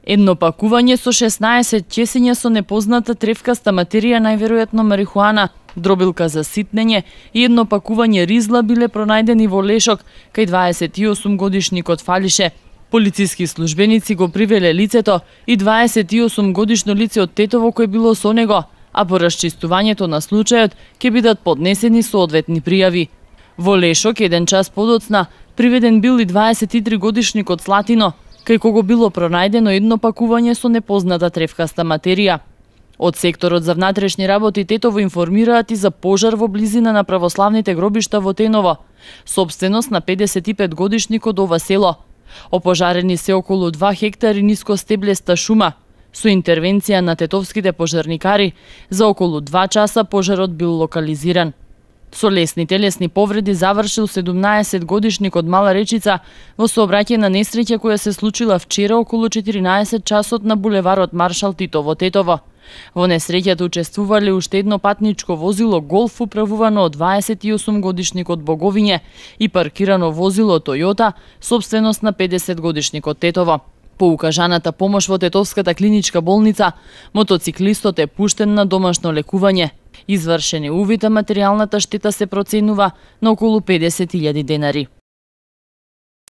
Едно пакување со 16 чесиња со непозната тревкаста материја, најверојатно марихуана, дробилка за ситнење и едно пакување ризла биле пронајдени во лешок кај 28 годишникот фалише. Полициски службеници го привеле лицето и 28 годишно лице од Тетово кој било со него, а по расчистувањето на случајот ќе бидат поднесени соодветни пријави. Во лешок, еден час подоцна, приведен бил и 23 годишникот Слатино, кај кого било пронајдено едно пакување со непозната тревкаста материја. Од секторот за внатрешни работи Тетово информираат и за пожар во близина на православните гробишта во Теново, сопственост на 55 годишникот ова село. Опожарени се околу 2 хектари нискостеблеста шума. Со интервенција на тетовските пожарникари, за околу 2 часа пожарот бил локализиран. Со лесни телесни повреди завршил 17 годишникот Мала Речица во сообраќајна несреќа која се случила вчера околу 14 часот на булеварот Маршал Тито во Тетово. Во несреќата учествувале уште едно патничко возило Голф управувано од 28 годишникот Боговиње и паркирано возило Тојота, сопственост на 50 годишникот Тетово. По укажаната помош во Тетовската клиничка болница, мотоциклистот е пуштен на домашно лекување. Извршен е увид, а материјалната штета се проценува на околу 50.000 денари.